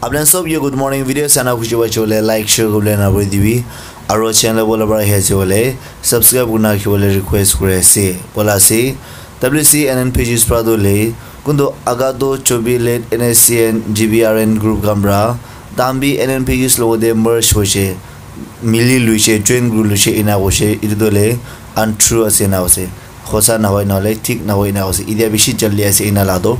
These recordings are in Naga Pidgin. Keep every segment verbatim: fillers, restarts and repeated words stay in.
Apni sob ke good morning. Video sana khushi pai chole like, share, comment na kuri dibi. Aro channel bola bara he ase bole subscribe kurna ki bole request kuri ase. Bola ase W C N N pages pra do le kundu aga do chobi late N S C N G B R N group khan pra tambi N N pages logo de merge hoise, mili luise, join group luise ina hoise. Itu do le untrue ase na hoise, hosa na hoi na le thik na hoi na hoise. Idia bishi jaldi ase ina la do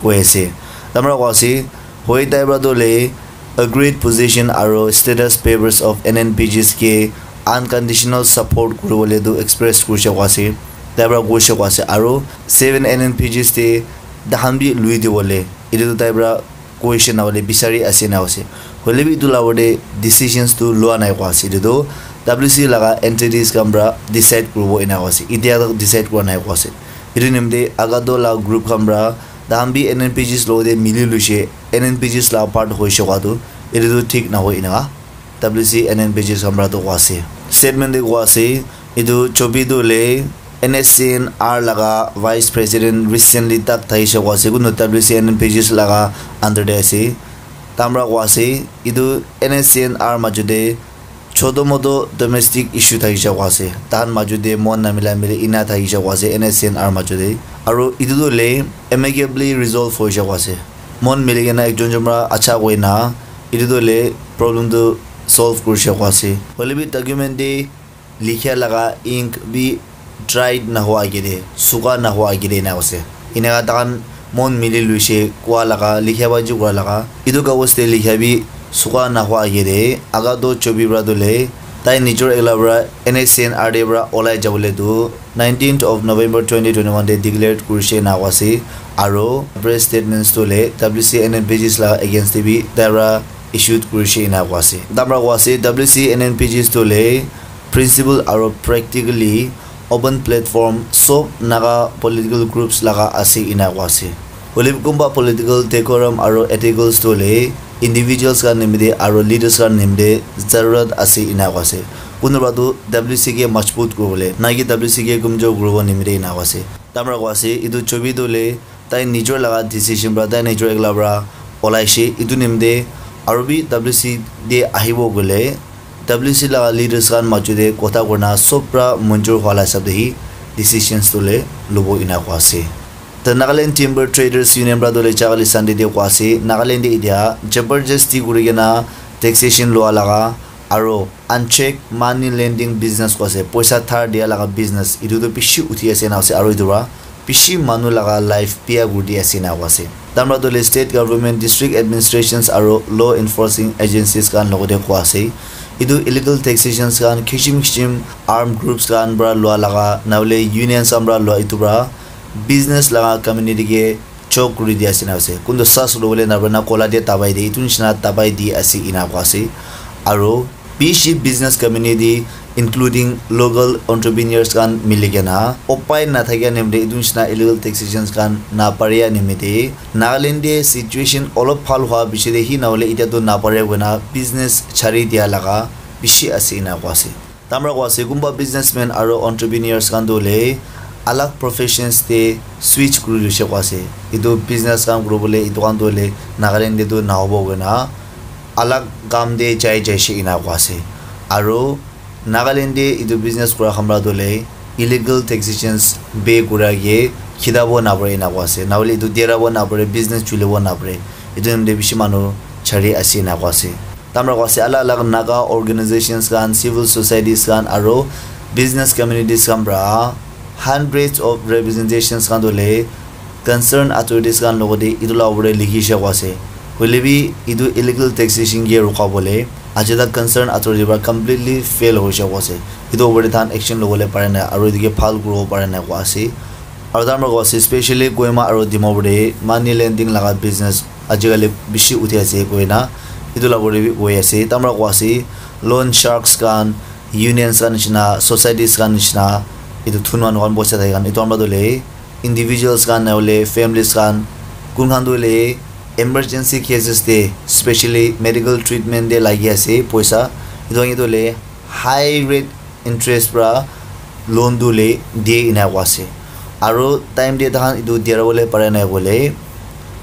koi ase. Tamra ko ase hoi tai pra do le agreed position aro status papers of N N P Gs ke unconditional support kuribole tu express kurishe kwa ase, tai pra kurishe kwa ase, aro seven N N P Gs te dahan bi lui dibole etu tu tai pra kurishe na hole bisari ase na ase. Hoile bi etu la opor te decisions tu lua nai kwa ase, etu tu W C laga entities khan pra decide kuribo ena kwa ase, etia tak decide kura nai kwa ase. Etu nimite agato la group khan pra dahan bi N N P Gs logote mili luishe, N N P Gs la part hoishe koa tu etu tu thik nahoi eneka W C N N P Gs khan pra tu koa ase. Statement te koa ase etu chobi tu le N S C N R laga vice president recently tak thaishe koa ase, kuntu W C N N P Gs laga under te ase. Tamra koa ase etu N S C N R majo te choto moto domestic issue thakisha koa ase, tahan majo te mon namila mili ina thakisha koa ase N S C N R majo te. Aru etu tu le amicably resolve hoisha koa ase, mon mili kena ekjon jun pra acha koi na etu tu le problem tu solve kurisha koa ase. Hoile bi document te likhia laga ink bi dried nahoa agede, suka nahoa agede ena ase. Eneka tahan mon mili luishe koa laga, likhia ba ju koa laga. Etu kagos te likhia bi suka nahoa agede, aga do chobi pra tu le, tai nijor ekla pra N S C N R D pra olai jabole tu nineteenth of November twenty twenty-one te declared kurishe ena koa ase. Aro press statements tu le W C N N P Gs laga against te bi tai pra issued kurishe ena koa ase. Tamra koa ase W C N N P Gs tu le principle aro practically open platform sob Naga political groups laga ase ena koa ase. Hoile bi kunba political decorum aro ethicals tu le individuals khan nimite aro leaders khan nimite zarurat ase ena koa ase. Kunba tu W C K majbut kuribole, na ki W C K kumjor kuribo nimite ena koa ase. Tamra koa ase etu chobi tu le tai nijor laga decision pra, tai nijor ekla pra olaishe. Etu nimite aru bi W C te ahibo koile, W C laga leaders khan majo te kotha kurina sob pra manjur hwa la hisab te hi decisions tu le lobo ena koa ase. The Nagaland Timber Traders Union pra tu le jagale Sunday te koa ase, Nagaland te etia jabardasti kuri kena taxation lua laga aro unchecked money lending business koa ase, poisa dhar dia laga business, etu tu bishi uthi ase na ase, aro etu pra bishi manu laga life bia kuri di ase na koa ase. Tamra tu le state government, district administrations aro law enforcing agencies khan logote koa ase, etu illegal taxations khan kishim kishim armed groups khan pra lua laga, na hole unions khan pra lua, etu pra business laga community ke choke kuri di ase na ase. Kuntu sas lobole na para na kola dia dabai de, etu nishina dabai di ase ena koa ase. Aro bishi business community including local entrepreneurs khan mili kena upai na thakia nimite etu nishina illegal taxations khan na paria nimite Nagaland te situation olop bhal hwa piche te hi na hole etia tu na paria koina business chari dia laga bishi ase ena koa ase. Tamra koa ase kunba businessman aro entrepreneurs khan tu le alag professions te switch kuri luishe koa ase. Etu business khan kuribole etu khan tu le Nagaland te tu nahobo koina alag kam te jai jaishe ena koa ase. Aro Nagaland te etu business kura khan pra tu le illegal taxations pay kura ke khitabo na pare ena koa ase. Na hole etu derabo na pare, business chulibo na pare. Etu nimite bishi manu chari ase ena koa ase. Tamra koa ase alag alag Naga organizations khan, civil societies khan aro business communities khan pra hundreds of representations khan tu le concerned authorities khan logote etu la opor te likhishe koa ase. Hoile bi etu illegal taxation ke rukabole aji tak concerned authority pra completely fail hoishe koa ase. Etu opor te tahan action lobole pare nai aro etu ke bhal kuribo pare nai koa ase. Aro tamra koa ase specially Kohima aro Dimapur te money lending laga business ajikali bishi uthi ase koina etu la opor te bi koi ase. Tamra koa ase loan sharks khan, unions khan nishina, societies khan nishina, etu thun manu khan bosta thake khan, etu khan pra tu le individuals khan na hole families khan, kun khan tu le emergency cases te specially medical treatment te lagi ase poisa, etu khan ke tu le high rate interest pra loan tu le die ena koa ase. Aro time te tahan etu dia bole pare nai koile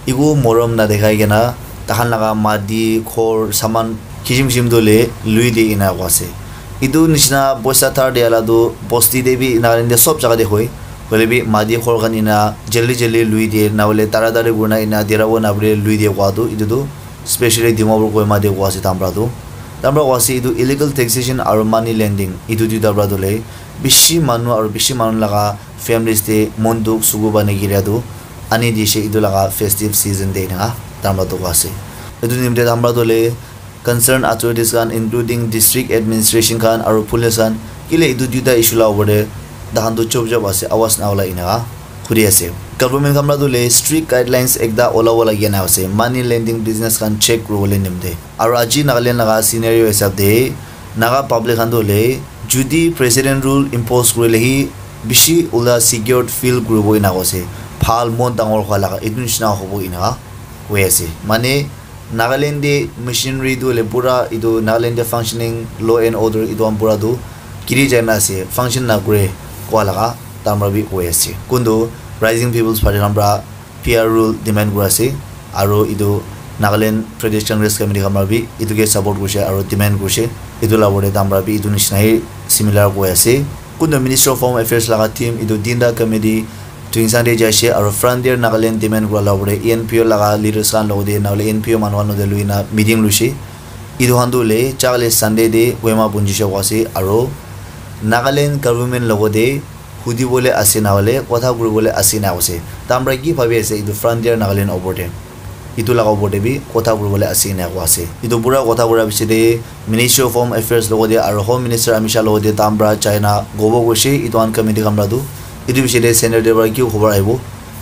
eku morom na dekhai kena Tahan laga mati, ghor, saman, kisim kisim tu le lui de ena koi ase. Etu nishina poisa dhar dia la tu bosti de bi Nagaland de sob jaga de hoi. Hoile bi mati ghor khan ena jaldi jaldi lui de, na hoile tara tari kurina ena dera wo na bole lui de koi tu, etu tu specially Dimapur Kohima de koi ase tamra tu. Tamra koi ase etu illegal taxation aru money lending, etu duita pra tu le bishi manu aru bishi manu laga families te mon dukh sugu bani giria tu ani dishe etu laga festive season te ena tamra tu koi ase. Etu nimite tamra tu le concerned authorities khan, including district administration khan aru police khan, kile etu duita issue la opor te tahan tu chop chop ase, awaz na ulai ena khuri ase. Government khan pra tu le strict guidelines ekta olabo lagi na ase, money lending business khan check kuribole nimite. Aru aji Nagaland laga scenario hisab te Naga public khan tu le jodi president rule impose kurile hi bishi ulta secured feel kuribo ena koi ase, bhal mon dangor hua laga etu nishina hobo ena koi ase. Mane Nagaland de machinery tu hoile pura etu Nagaland de functioning law and order etu khan pura tu giri jai na ase, function na kure koi laga tamra bi koi ase. Kuntu Rising People's Party khan pra P R rule demand kuri ase, aru etu Nagaland Pradesh Congress Committee khan pra bi etu ke support kurise aru demand kurise. Etu la opor te tamra bi etu nishina hi similar koi ase. Kuntu Ministry of Home Affairs laga team etu tinta committee Tuensang te jai ase aru Frontier Nagaland demand kura la opor te E N P O laga leaders khan logot te na hoile E N P O manu khan logot te lui na meeting luise. Etu khan tu hoile chakale Sunday te Kohima punjisha koi ase aru Nagaland government logot te hudi bole ase na hoile kotha kuri bole ase na koi ase. Tamra ki bhabi ase etu Frontier Nagaland opor te, etu laga opor te bi kotha kuri bole ase na koi ase. Etu pura kotha kura piche te Ministry of Home Affairs logot te aru Home Minister Amit Shah logot te tamra jai na kobo koise etu khan committee khan pra tu. Etu piche te center te pra ki khobor ahibo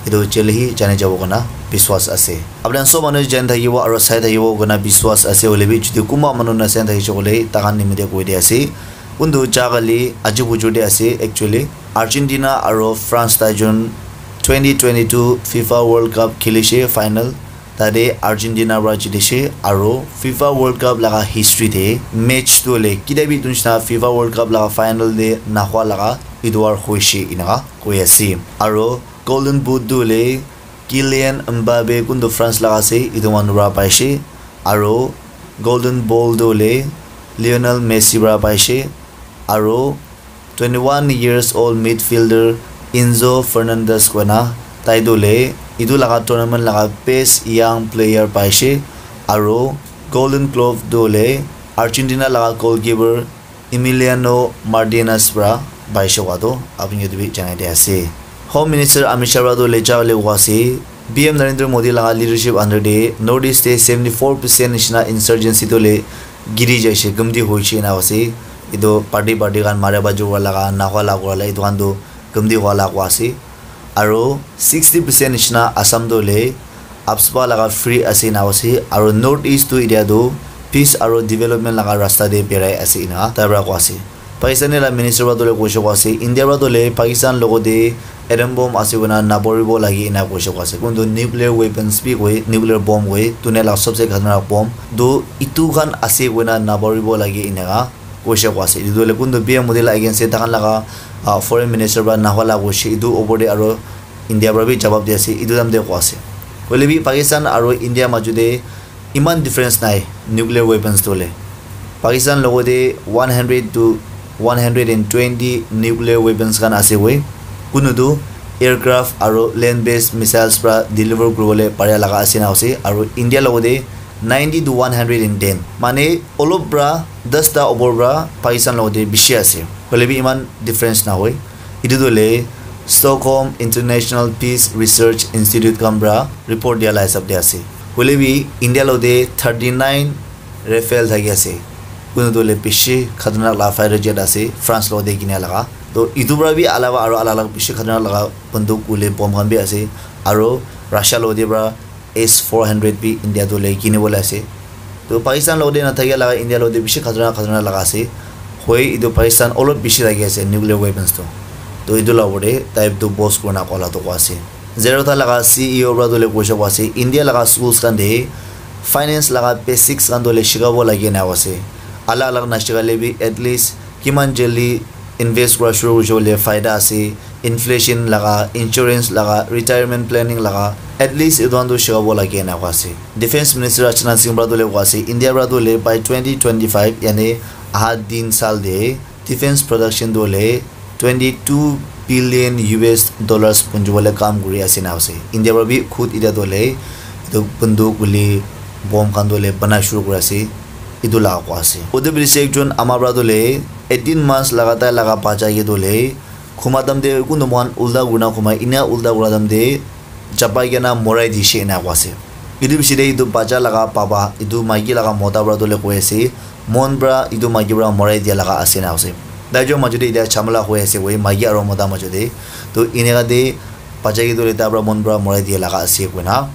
etu jaldi hi jani jabo koina biswas ase. Apni khan sob manu jani thakibo aru sai thakibo koina biswas ase, hoile bi jodi kunba manu na sai thakise koile tai khan nimite koi di ase. Kuntu jagale aji bujur te ase actually. Argentina aru France tai jun twenty twenty-two FIFA World Cup khelishe final. Tate Argentina pra jitise aru FIFA World Cup laga history te match tu hoile ketia bi etu nishina FIFA World Cup laga final te nahua laga etu war hoise eneka koi ase. Aru Golden Boot tu hoile Kylian Mbappe kuntu France laga ase etu manu pra paise. Aru Golden Ball tu hoile Lionel Messi pra paise. Aru twenty-one years old midfielder Enzo Fernandez koina tai tu hoile etu laga tournament laga best young player paise. Aru Golden Glove tu hoile Argentina laga goalkeeper Emiliano Martinez pra paise koa tu apni khan ke bi janai di ase. Home Minister Amit Shah pra tu lecha hoile koa ase, P M Narendra Modi laga leadership under te North East te seventy four percent nishina insurgency tu hoile giri jaise, gumti hoise ena ase. Etu party party khan mara bajua laga, nahua laga etu khan tu gumti hua laga koa ase. Aru sixty percent nishina Assam tu hoile AFSPA laga free ase ena ase. Aru North East tu etia tu peace aru development laga rasta te berai ase ena tai pra koa ase. Pakistan laga minister pra tu hoile koise koa ase, India pra tu hoile Pakistan logot te atom bomb ase koina naporibo lage ena koise koa ase. Kuntu nuclear weapons bi koi, nuclear bomb koi, dunia laga sobse khatarnak bomb tu etu khan ase koina naporibo lage eneka koise koa ase. Etu tu hoile kuntu P M Modi laga against te tai khan laga, ah, foreign minister pra nahua laga koise, etu opor te aru India pra bi jawab di ase, etu time te koa ase. Hoile bi Pakistan aru India maju te eman difference nai nuclear weapons tu hoile. Pakistan logot te one hundred to one hundred and twenty nuclear weapons khan ase koi. Kunu tu aircraft aru land based missiles pra deliver kuribole paria laga ase na ase. Aru India logot te ninety to one hundred and ten. Mane olop pra dasta opor pra Pakistan logot te bishi ase. Hoile bi eman difference na hoi. Etu tu hoile Stockholm International Peace Research Institute khan pra report dia la hisab te ase. Hoile bi India logot te thirty nine Rafale thaki ase. Kunu tu hoile bishi khatarnak laga fighter jet ase, France logot te kinia laga. To etu pra bi alawa aru alag alag bishi khatarnak laga banduk hoile bomb khan bi ase. Aru Russia logot te pra S four hundred bi India tu hoile kini bole ase. To Pakistan logot te na thakia laga India logot te bishi khatarnak khatarnak laga ase. Hoi etu Pakistan olop bishi lagi ase nuclear weapons tu. To etu la opor te tai tu boss kurna koa la tu koa ase. Zerodha laga C E O pra tu hoile koise koa ase, India laga schools khan te finance laga basics khan tu hoile shikabo lage na ase. Alag alag na shikale bi at least kiman jaldi invest kura shuru hoise koile faida ase, inflation laga, insurance laga, retirement planning laga, At least etu khan tu shikabo lage ena koa ase. Defense Minister Rajnath Singh para tu le koa ase, India para tu le by twenty twenty-five, yani aha din sal de defense production tu le twenty-two billion U S dollars punjibole kam kuri ase na ase. India para bi khud ida tu le etu bunduk guli bomb khan tu le bana shuru kuri ase. Etu la koa ase. Ode bisi ekjon ama para tu le eighteen months lagatar laga bacha ke tu le khuma tam de kunu mohan ulta kurina khumai, ina ulta kura tam de chapai kena morai dishe ena koa ase. Etu bishi de etu bacha laga papa, etu maiki laga mota para tu le koi ase, mon para etu maiki para morai dia laga ase na ase. Tai jun maju de etia chamala hoi ase koi, maiki aro mota maju de. To eneka de bacha ke tu le tai para mon para morai dia laga ase koina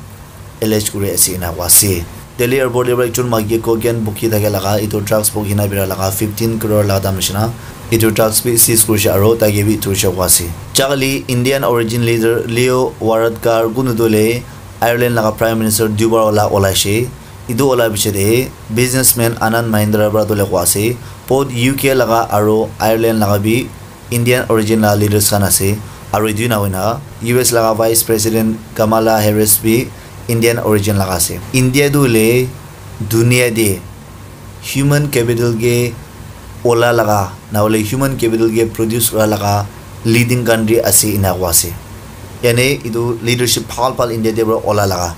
allege kuri ase ena koa ase. Delhi airport de para ekjon maiki cocaine bukhi thake laga, etu drugs bukhi na bera laga fifteen crore laga dam nishina. Etu drugs bi seize kurishe aro tai ke bi thurishe koa ase. Chakali Indian origin leader Leo Varadkar kunu tu le Ireland laga Prime Minister dubar ola olaishe. Etu ola piche de businessman Anand Mahindra para tu le koa ase, both U K laga aro Ireland laga bi Indian origin laga leaders khan ase, aro etu na hoina U S laga Vice President Kamala Harris bi Indian origin laga ase. India tu le dunia de human capital ke ola laga, na hole human capital ke produce kura laga leading country ase ena koa ase. Yani etu leadership bhal bhal India de para ola laga.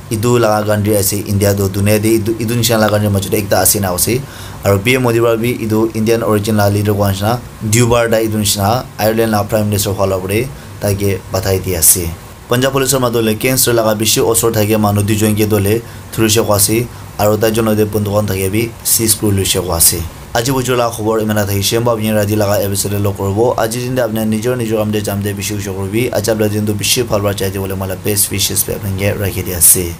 Etu laga country ase India tu dunia de etu, etu nishina laga country maju de ekta ase na ase. Aro P M Modi para bi etu Indian origin laga leader koa nishina, dubar tai etu nishina Ireland laga Prime Minister hua la pore tai ke bathai di ase. Punjab police matu le cancer laga bishi osor thakia manu duijon ke tu le thurishe koa ase, aro tai jon logote bunduk khan thakia bi seize kuri loishe koa ase. Aji bujur laga khobor imana thakishe, moi apni rati laga episode de log koribo. Aji din de apni nijor nijor kam de jam de bishi ujo koribi. Aji apni din tu bishi bhal para jai de bole moi la best wishes bi apni ke rakhi di ase.